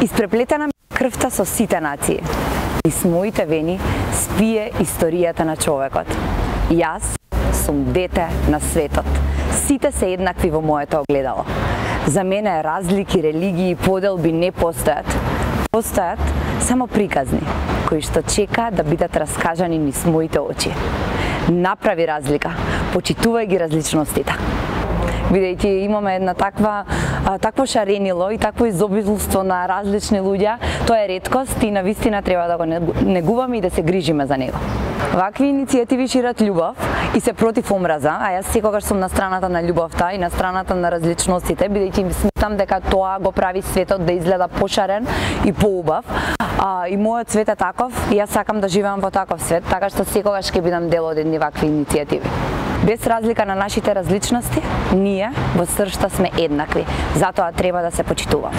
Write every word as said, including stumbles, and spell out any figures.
Испреплетена ми крвта со сите нации. Низ моите вени спие историјата на човекот. Јас сум дете на светот. Сите се еднакви во моето огледало. За мене разлики, религии, поделби не постојат. Постојат само приказни, кои што чекаат да бидат раскажани низ моите очи. Направи разлика, почитувај ги различностите. Бидејќи имаме една таква такво шаренило и такво изобилство на различни луѓе, тоа е реткост и навистина треба да го негуваме и да се грижиме за него. Вакви иницијативи шират љубов и се против омраза, а јас секогаш сум на страната на љубовта и на страната на различностите, бидејќи сметам дека тоа го прави светот да изгледа пошарен и поубав. А, и мојот свет е таков и јас сакам да живеам во таков свет, така што секогаш ќе бидам дел од едни вакви иницијативи. Без разлика на нашите различности, ние во сршта сме еднакви, затоа треба да се почитуваме.